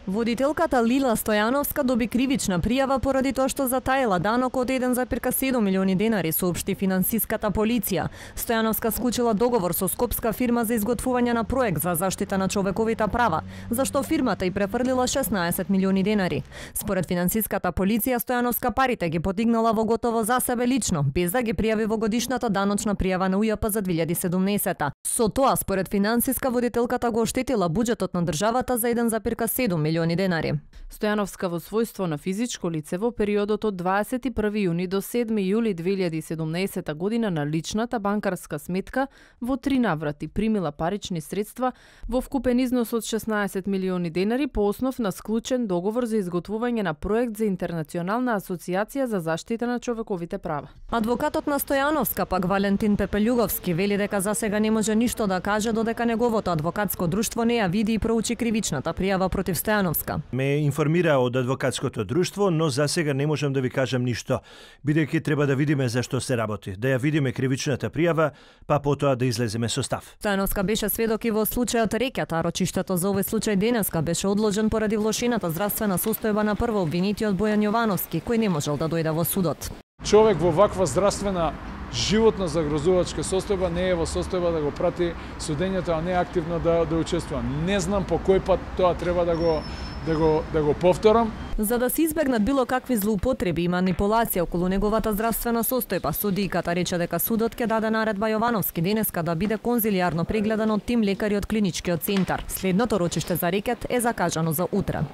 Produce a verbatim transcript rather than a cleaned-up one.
Водителката Лила Стојановска доби кривична пријава поради тоа што затаила данок од еден зарез седум милиони денари, соопшти финансиската полиција. Стојановска склучила договор со скопска фирма за изготвување на проект за заштита на човековите права, за што фирмата и префрлила шеснаесет милиони денари. Според финансиската полиција, Стојановска парите ги подигнала во готово за себе лично, без да ги пријави во годишната даночна пријава на УЈП за две илјади и седумнаесета. Со тоа, според финансиска, водителката го оштетила буџетот на државата за еден зарез седум милиони денари. Стојановска во својство на физичко лице во периодот од дваесет и први јуни до седми јули две илјади и седумнаесета година на личната банкарска сметка во три наврати примила парични средства во вкупен износ од шеснаесет милиони денари по основ на склучен договор за изготвување на проект за интернационална асоциација за заштита на човековите права. Адвокатот на Стојановска, пак Валентин Пепелјуговски, вели дека засега не може ништо да каже додека неговото адвокатско друштво не ја види и проучи кривичната пријава против Стојановска. Ме информира од адвокатското друштво, но засега не можам да ви кажам ништо, бидејќи треба да видиме зашто се работи, да ја видиме кривичната пријава, па потоа да излеземе со став. Стојановска беше сведок и во случајот Рекјата, а рочиштето за овој случај денеска беше одложен поради влошената здравствена состојба на прво обвинетиот Бојан Јовановски, кој не можел да дојде во судот. Човек во ваква здравствена животно загрозувачка состојба не е во состојба да го прати судењето, а не активно да да учествува. Не знам по кој пат тоа треба да го да го да го повторам. За да се избегнат било какви злоупотреби и манипулација околу неговата здравствена состојба, судијката рече дека судот ќе даде наредба Јовановски денеска да биде конзилијарно прегледан од тим лекари од клиничкиот центар. Следното рочиште за Рекет е закажано за утре.